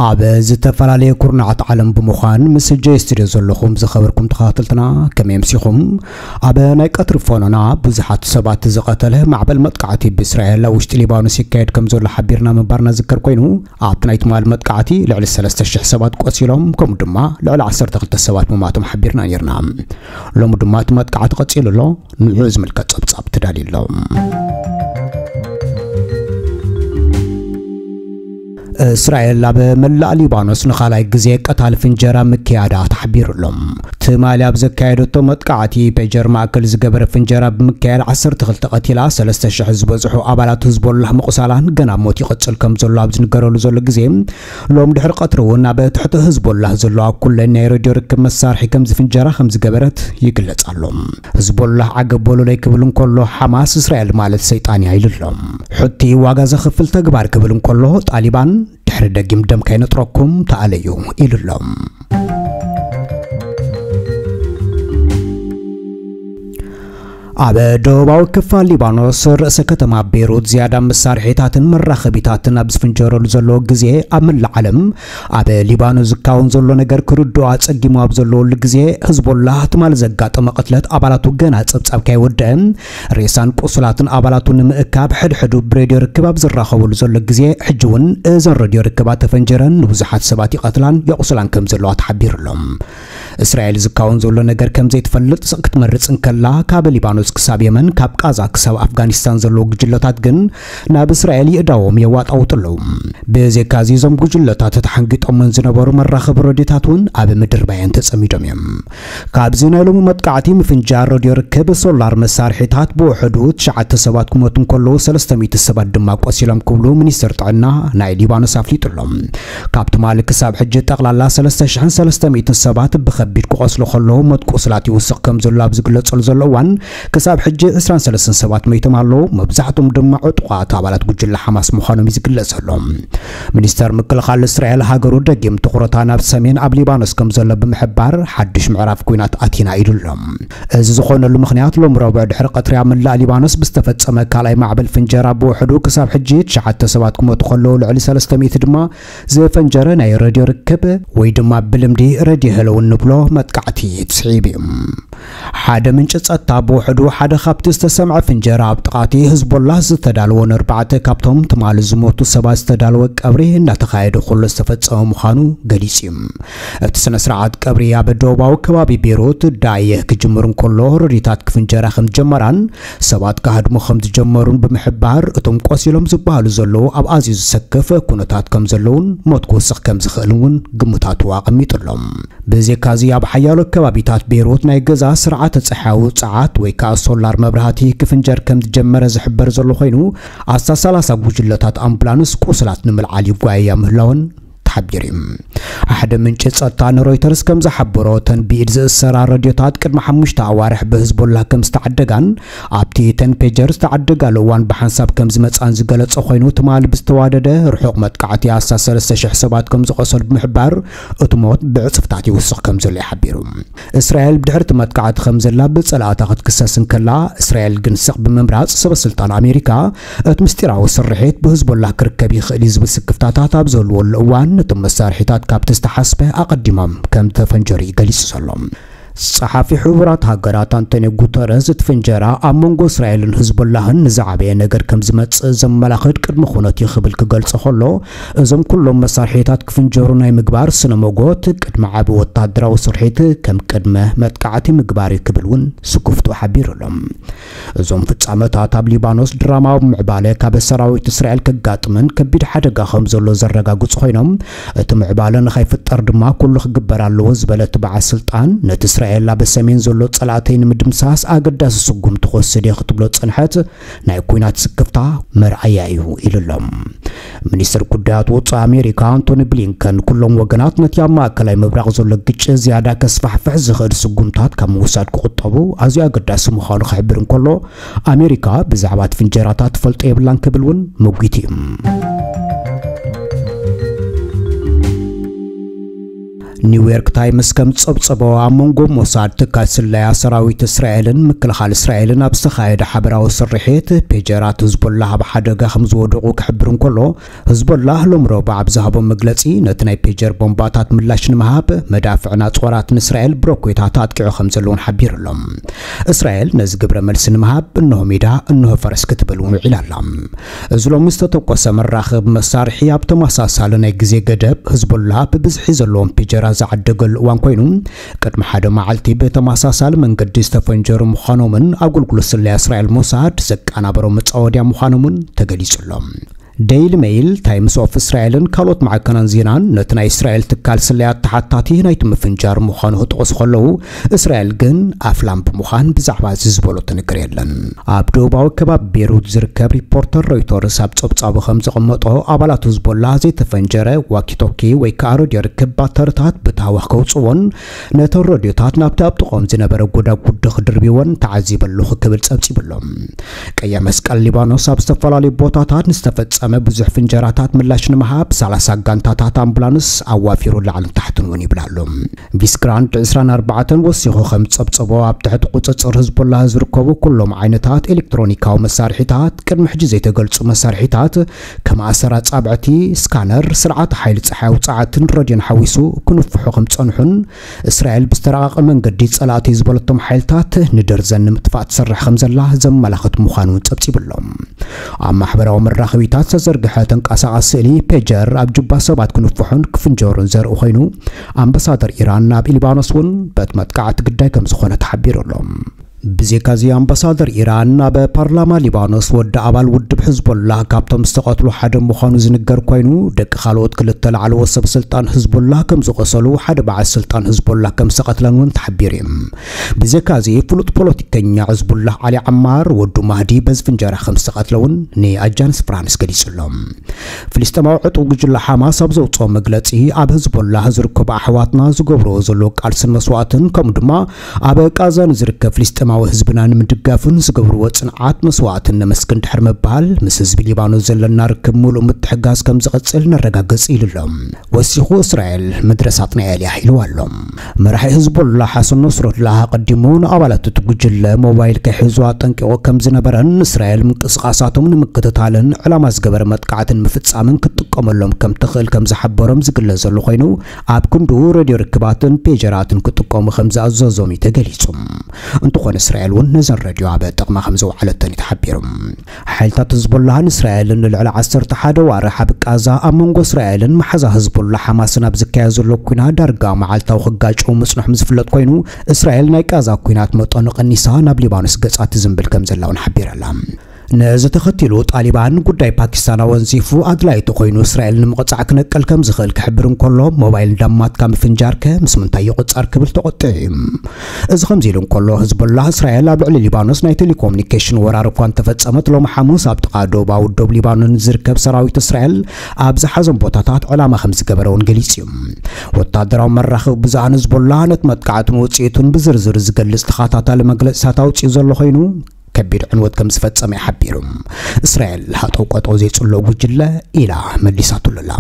ኣብ ዝተፈላለየ ኩርናዓት ዓለም ብምዃን ምስ ጀይ ስቱድዮ ዘለኹም ዝኸበርኩም ተኸታተልትና፣ ከመይ ኣምሲኹም? ኣብ ናይ ቀትሪ ፎኖና ብዙሓት ሰባት ዝቐተለ ማዕበል መጥቃዕቲ ብእስራኤል ኣብ ውሽጢ ሊባኖስ ይካየድ ከም ዘሎ ሓቢርና ምንባርና ዝከር ኮይኑ፣ ኣብቲ ናይ ትማሊ መጥቃዕቲ ልዕሊ ሰለስተ ሽሕ ሰባት ቆሲሎም፣ ከምኡ ድማ ልዕሊ ዓሰርተ ክልተ ሰባት ምማቶም ሓቢርና ነርና። ሎሚ ድማ እቲ መጥቃዕቲ ቀጺሉ ኣሎ። ንዑ ዝምልከት ጸብጻብ ተዳልዩ ኣሎ። እስራኤል ኣብ መላእ ሊባኖስ ንኻልኣይ ግዜ ቀታሊ ፍንጀራ ምክያዳ ተሓቢሩ ኣሎ። ትማሊ ኣብ ዘካየደቶ መጥቃዕቲ ፔጀር ማእከል ዝገበረ ፍንጀራ ብምክያድ ዓሰርተ ክልተ ቀቲላ፣ ሰለስተ ሽሕ ዝበጽሑ ኣባላት ህዝቦላህ ምቑሳላን ገና ሞት ይቕጽል ከም ዘሎ ኣብ ዝንገረሉ ዘሎ ግዜ፣ ሎም ድሕሪ ቀትሪ እውን ኣብ ትሕቲ ህዝቦላህ ዘሎ ኣብ ኩለን ናይ ሬድዮ ርክብ መሳርሒ ከም ዝፍንጀራ ከም ዝገበረት ይግለጽ ኣሎ። ህዝቦላህ ዓገብ በሉለይ ክብል እንከሎ፣ ሓማስ እስራኤል ማለት ሰይጣን እያ ኢሉ ኣሎ። ሑቲ ዋጋ ዘኽፍል ተግባር ክብል እንከሎ፣ ጣሊባን ድሕሪ ደጊም ደም ከይነጥረኩም ተኣለዩ ኢሉ ኣሎ። ኣብ ደቡባዊ ክፋል ሊባኖስ ርእሰ ከተማ ቤይሩት ዝያዳ መሳርሒታትን መራኸቢታትን ኣብ ዝፍንጀረሉ ዘለዎ ግዜ፣ ኣብ መላእ ዓለም ኣብ ሊባኖስ ዝካወን ዘሎ ነገር ክርድኦ ኣጸጊሙ ኣብ ዘለወሉ ግዜ፣ ህዝቦላህ ትማሊ ዘጋጠመ ቅትለት ኣባላቱ ገና ጸብጻብ ከይወደአ፣ ሬሳን ቁሱላትን ኣባላቱ ንምእካብ ሕድሕዱ ብሬድዮ ርክብ ኣብ ዝራኸበሉ ዘሎ ግዜ፣ ሕጂ እውን እዘን ሬድዮ ርክባት ተፈንጀረን ንብዙሓት ሰባት ይቐትላን የቑስላን ከም ዘለዋ ተሓቢሩ ኣሎ። እስራኤል ዝካወን ዘሎ ነገር ከም ዘይትፈልጥ ክትመርጽ እንከላ፣ ካብ ሊባኖስ ክሳብ የመን፣ ካብ ቃዛ ክሳብ ኣፍጋኒስታን ዘለዉ ጉጅለታት ግን ናብ እስራኤል ይእዳዎም የዋጣውጡ ኣለዉ። ብዘይካዚ፣ እዞም ጉጅለታት ተሓንጊጦመን ዝነበሩ መራኸቢ ሬድዮታት እውን ኣብ ምድር ባየን ተጸሚዶም እዮም። ካብዚ ናይ ሎሚ መጥቃዕቲ ምፍንጃር ሬድዮ ርክብ፣ ሶላር መሳርሒታት ብውሕዱ ትሽዓተ ሰባት ክሞቱ እንከለዉ፣ ሰለስተ ሚእቲ ሰባት ድማ ቆሲሎም ክብሉ ሚኒስትር ጥዕና ናይ ሊባኖስ ኣፍሊጡ ኣሎ። ካብ ትማሊ ክሳብ ሕጂ ጠቕላላ ሰለስተ ሽሕን ሰለስተ ሚእትን ሰባት ብኸቢድ ክቖስሉ ከለዉ፣ ሞት ቁስላት ይውስኽ ከም ዘሎ ኣብ ዝግለጸሉ ዘሎ እዋን፣ ክሳብ ሕጂ ዕስራን ሰለስተን ሰባት ሞይቶም ኣለዉ። መብዛሕትኦም ድማ ዕጡቓት ኣባላት ጉጅለ ሓማስ ምዃኖም እዩ ዝግለጽ ዘሎ። ሚኒስተር ምክልኻል እስራኤል፣ ሃገሩ ደጊም ትኹረታ ናብ ሰሜን ኣብ ሊባኖስ ከም ዘሎ ብምሕባር፣ ሓድሽ ምዕራፍ ኲናት ኣቲና ኢሉ ኣሎ። እዚ ዝኾነሉ ምኽንያት፣ ሎም ረቡዕ ድሕሪ ቀትሪ ኣብ መላእ ሊባኖስ ብዝተፈጸመ ካልኣይ ማዕበል ፍንጀራ ብውሕዱ ክሳብ ሕጂ ትሽዓተ ሰባት ክሞቱ ከለዉ፣ ልዕሊ ሰለስተ ሚእቲ ድማ ዝፈንጀረ ናይ ሬድዮ ርክብ ወይ ድማ ብልምዲ ሬድዮ ሄሎ እንብሎ መጥቃዕቲ ስዒቡ እዩ። ሓደ ምንጪ ጸጥታ ብውሕዱ ሓደ ካብቲ ዝተሰምዐ ፍንጀራ ኣብ ጥቓቲ ህዝቦላህ ዝተዳለወ ንኣርባዕተ ካብቶም ትማሊ ዝሞቱ ሰባት ዝተዳለወ ቀብሪ እናተኻየደ ከሎ ዝተፈጸመ ምዃኑ ገሊጹ እዩ። እቲ ስነ ስርዓት ቀብሪ ኣብ ደቡባዊ ከባቢ ቤይሩት ዳየህ ክጅምር እንከሎ፣ ረድዮታት ክፍንጀራ ከም ዝጀመራን ሰባት ክሃድሙ ከም ዝጀመሩን ብምሕባር፣ እቶም ቆሲሎም ዝበሃሉ ዘለዉ ኣብ ኣዝዩ ዝሰክፍ ኩነታት ከም ዘለዉን ሞት ክውስኽ ከም ዝኽእል እውን ግምታቱ ኣቐሚጡ ኣሎ። ብዘይካዚ፣ ኣብ ሓያሎ ከባቢታት ቤይሩት ናይ ገዛ ስርዓተ ጸሓያዊ ጸዓት ወይ ከኣ ሶላር መብራህቲ ክፍንጀር ከም ዝጀመረ ዝሕበር ዘሎ ኮይኑ፣ ኣስታት ሰላሳ ጉጅለታት ኣምቡላንስ ቁስላት ንምልዓል ይጓየያ ምህላወን ተሓቢሩ እዩ። ሓደ ምንጪ ጸጥታ ንሮይተርስ ከም ዝሓበሮ፣ እተን ብኢድ ዝእሰራ ረድዮታት ቅድሚ ሓሙሽተ ኣዋርሕ ብህዝቦላህ ከም ዝተዓደጋን ኣብቲ እተን ፔጀር ዝተዓደጋሉ እዋን ብሓንሳብ ከም ዝመጻን ዝገለጸ ኮይኑ፣ ትማሊ ብዝተዋደደ ርሑቕ መጥቃዕቲ ኣስታት ሰለስተ ሽሕ ሰባት ከም ዝቖሰሉ ብምሕባር፣ እቲ ሞት ብዕጽፍታት ይውስኽ ከም ዘሎ እዩ ሓቢሩ። እስራኤል ብድሕሪ እቲ መጥቃዕቲ ከም ዘላ ብጸላእታ ክትክሰስ እንከላ፣ እስራኤል ግን ስቕ ብምምራጽ፣ ሰበ ስልጣን ኣሜሪካ እቲ ምስጢራዊ ስርሒት ብህዝቦላህ ክርከብ ይኽእል እዩ ዝብል ስክፍታታት ኣብ ዝህልወሉ እዋን፣ እቶም መሳርሒታት ካብቲ ዝተሓስበ ኣቐዲሞም ከም ተፈንጀሩ እዩ ገሊጹ ዘሎ። ጸሓፊ ሕቡራት ሃገራት ኣንቶኒዮ ጉተረዝ፣ እቲ ፍንጀራ ኣብ መንጎ እስራኤልን ህዝቦላህን ንዝዓበየ ነገር ከም ዝመጽእ ዘመላኽት ቅድመ ኩነት እዩ ክብል ክገልጾ ከሎ፣ እዞም ኩሎም መሳርሒታት ክፍንጀሩ ናይ ምግባር ስነ መጎት ቅድሚ ዓቢ ወታደራዊ ስርሒት ከም ቅድመ መጥቃዕቲ ምግባር እዩ ክብል እውን ስክፍትኡ ሓቢሩ ኣሎ። እዞም ፍጻመታት ኣብ ሊባኖስ ድራማዊ ምዕባለ ካብ ሰራዊት እስራኤል ከጋጥምን ከቢድ ሓደጋ ከም ዘሎ ዘረጋግጹ ኮይኖም፣ እቲ ምዕባለ ንኸይፍጠር ድማ ኩሉ ክግበር ኣለዎ ዝበለ እቲ በዓል ስልጣን፣ ነቲ እስራኤል ኣብ ሰሜን ዘሎ ጸላእተይ ንምድምሳስ ኣገዳሲ ስጉምቲ ክወስድ እየ ክትብሎ ዝጸንሐት ናይ ኲናት ስክፍታ መርኣያ እዩ ኢሉ ኣሎ። ሚኒስትር ጉዳያት ወጻኢ ኣሜሪካ ኣንቶኒ ብሊንከን፣ ኩሎም ወገናት ነቲ ኣብ ማእከላይ ምብራቕ ዘሎ ግጭት ዝያዳ ከስፋሕፍሕ ዝኽእል ስጉምታት ካብ ምውሳድ ክቑጠቡ ኣዝዩ ኣገዳሲ ምዃኑ ክሕብር እንከሎ፣ ኣሜሪካ ብዛዕባ እቲ ፍንጀራታት ትፈልጦ የብላን ክብል እውን መጒቱ እዩ። ኒውዮርክ ታይምስ ከም ዝጸብጸቦ፣ ኣብ መንጎ ሞሳድ፣ ትካል ስለያ ሰራዊት እስራኤልን ምክልኻል እስራኤልን ኣብ ዝተኻየደ ሓበራዊ ስርሒት፣ ፔጀራት ህዝቦላህ ኣብ ሓደጋ ከም ዝወደቑ ክሕብር እንከሎ፣ ህዝቦላህ ሎሚ ረቡዕ ኣብ ዝሃቦ መግለጺ፣ ነቲ ናይ ፔጀር ቦምባታት ምላሽ ንምሃብ፣ መዳፍዕን ኣጽዋራትን እስራኤል ብሮኬታት ኣጥቂዑ ከም ዘለውን ሓቢሩ ኣሎ። እስራኤል ነዚ ግብረ መልሲ ንምሃብ፣ እንሆ ሜዳ፣ እንሆ ፈረስ ክትብል እውን ውዒላ ኣላ። እዚ ሎሚ ዝተተኮሰ መራኽብ መሳርሒ ኣብ ተመሳሳሊ ናይ ግዜ ገደብ፣ ህዝቦላህ ብብዝሒ ዘለዎም ፒጀራ ዝዓደገሉ እዋን ኮይኑ፣ ቅድሚ ሓደ መዓልቲ ብተመሳሳሊ መንገዲ ዝተፈንጀሩ ምዃኖምን ኣገልግሎት ስለያ እስራኤል ሞሳድ ዘቀናበሮ መጻወድያ ምዃኖምን ተገሊጹ ኣሎ። ዴይሊ ሜይል፣ ታይምስ ኦፍ እስራኤልን ካልኦት ማዕከናት ዜናን ነቲ ናይ እስራኤል ትካል ስለያ ተሓታቲ ናይቲ ምፍንጃር ምዃኑ ክጠቕሱ ከለዉ፣ እስራኤል ግን ኣፍላም ብምዃን ብዛዕባ እዚ ዝበሎ ትንግር የለን። ኣብ ደቡባዊ ከባቢ ቤሩት ዝርከብ ሪፖርተር ሮይተርስ ኣብ ጸብጻቡ ከም ዘቐመጦ፣ ኣባላት ህዝቦላ ዘይተፈንጀረ ዋኪቶኪ ወይ ከኣ ሬድዮ ርክብ ባተርታት ብታህዋኽ ከውጽዎን ነተን ሬድዮታት ናብቲ ኣብ ጥቕኦም ዝነበረ ጎዳጉዲ ክድርብዎን ተዓዚበ ኣለኹ ክብል ጸብጺቡ ኣሎ። ቀይሕ መስቀል ሊባኖስ ኣብ ዝተፈላለዩ ቦታታት ንዝተፈጸመ ብዙሕ ፍንጀራታት ምላሽ ንምሃብ ሰላሳ ጋንታታት ኣምቡላንስ ኣዋፊሩ ላዕልን ታሕትን እውን ይብል ኣሎ። ቪስግራንድ ዕስራን ኣርባዕተን ወሲኹ ከም ዝጸብጸቦ፣ ኣብ ትሕቲ ቁጽጽር ህዝቦላህ ዝርከቡ ኩሎም ዓይነታት ኤሌክትሮኒካዊ መሳርሒታት፣ ቅድሚ ሕጂ ዘይተገልጹ መሳርሒታት፣ ከም ኣሰር ኣጻብዕቲ፣ ስካነር፣ ስርዓት ሓይሊ ጸሓያዊ ጸዓትን ረድዮን ሓዊሱ ክንፍሑ ከም ዝጸንሑን፣ እስራኤል ብዝተራቐቐ መንገዲ ጸላእቲ ዝበለቶም ሓይልታት ንደርዘን ንምጥፋእ ትሰርሕ ከም ዘላ ዘመላኽት ምዃኑ እውን ጸብጺቡ ኣሎ። ኣብ ማሕበራዊ መራኸቢታት ዝተዘርግሐ ተንቀሳቓሲ ስእሊ ፔጀር ኣብ ጁባ ሰባት ክንፍሑን ክፍንጀሩን ዘርኢ ኮይኑ፣ ኣምባሳደር ኢራን ናብ ሊባኖስ እውን በቲ መጥቃዕቲ ግዳይ ከም ዝኾነ ተሓቢሩ ኣሎ። ብዘይካዚ ኣምባሳደር ኢራን ኣብ ፓርላማ ሊባኖስ ወዲ ኣባል ውድብ ሕዝቦላህ ካብቶም ዝተቐትሉ ሓደ ምዃኑ ዝንገር ኮይኑ፣ ደቂ ካልኦት ክልተ ላዕለዎት ሰብ ስልጣን ሕዝቦላህ ከም ዝቖሰሉ ሓደ በዓል ስልጣን ሕዝቦላህ ከም ዝተቐትለን እውን ተሓቢሩ እዩ። ብዘይካዚ ፍሉጥ ፖለቲከኛ ሕዝቡላህ ዓሊ ዓማር ወዱ ማህዲ በዚ ፍንጀራ ከም ዝተቐትለ እውን ንኣጃንስ ፍራንስ ገሊጹ ኣሎ። ፍልስጤማዊ ዕጡብ ጉጅለ ሓማስ ኣብ ዘውጽኦ መግለጺ፣ ኣብ ህዝቦላህ ዝርከቡ ኣሕዋትና ዝገብርዎ ዘለዉ ቃልስን መስዋእትን፣ ከምኡ ድማ ኣብ ቃዛ ንዝርከብ ፍልስጤማዊ ህዝብና ንምድጋፍን ዝገብርዎ ጽንዓት መስዋእትን ነመስግን ድሕሪ ምባል፣ ምስ ህዝቢ ሊባኖስ ዘለና ርክብ ምሉእ ምትሕጋዝ ከም ዝቐጽል ነረጋግጽ ኢሉ ኣሎ። ወሲኹ፣ እስራኤል ምድረ ሳጥናኤል እያ ኢልዋ ኣሎ። መራሒ ህዝቦላህ ሓሰን ነስሩላህ ኣቐዲሙ ንኣባላት እቲ ጉጅለ ሞባይል ክሕዙ ኣጠንቂቑ ከም ዝነበረን፣ እስራኤል ምንቅስቓሳቶም ንምክትታልን ዕላማ ዝገበረ መጥቃዕትን ምፍጻምን ክትጥቀመሎም ከም ትኽእል ከም ዝሓበሮም ዝግለጽ ዘሎ ኮይኑ፣ ኣብ ክንድኡ ሬድዮ ርክባትን ፔጀራትን ክጥቀሙ ከም ዝኣዘዞም እዩ ተገሊጹ። እንተኾነ፣ እስራኤል እውን ነዘን ሬድዮ ኣብ ጥቕማ ከም ዘውዓለተን እዩ ተሓቢሩ። ሓይልታት ህዝቦላህን እስራኤልን ንልዕሊ ዓሰርተ ሓደ ዋርሕ ኣብ ቃዛ ኣብ መንጎ እስራኤልን መሓዛ ህዝቦላህ ሓማስን ኣብ ዝካየድ ዘሎ ኲናት ዳርጋ መዓልታዊ ክጋጨው ምጽንሖም ዝፍለጥ ኮይኑ፣ እስራኤል ናይ ቃዛ ኲናት መጠኑ ቀኒሳ ናብ ሊባኖስ ገጻ ትዝንብል ከም ዘላ እውን ሓቢራ ኣላ። ነዚ ተኸቲሉ ጣሊባን ጉዳይ ፓኪስታን ኣወንዚፉ ኣድላይቲ ኮይኑ እስራኤል ንምቕጻዕ ክነቅል ከም ዝኽእል ክሕብር እንከሎ፣ ሞባይል እንዳማትካ ምፍንጃርከ ምስ ምንታይ ይቑጸር ክብል ተቖጢዑ እዩ። እዚ ከምዚ ኢሉ እንከሎ፣ ህዝቦላህ እስራኤል ኣብ ልዕሊ ሊባኖስ ናይ ቴሌኮሙኒኬሽን ወራር እኳ እንተፈጸመት፣ ሎሚ ሓሙስ ኣብ ጥቓ ደቡባዊ ዶብ ሊባኖን ዝርከብ ሰራዊት እስራኤል ኣብ ዝሓዞም ቦታታት ዕላማ ከም ዝገበረ እውን ገሊጹ እዩ። ወታደራዊ መራኸቢ ብዙሃን ህዝቦላህ ነቲ መጥቃዕትን ውጽኢቱን ብዝርዝር ዝገልጽ ተኸታታሊ መግለጺታት ኣውጺኡ ዘሎ ኮይኑ፣ ከቢድ ዕንወት ከም ዝፈጸመ እዩ ሓቢሩ። እስራኤል ሃጠው ቀጠው ዘይጽሎ ጉጅለ ኢላ መሊሳትሉ ኣላ።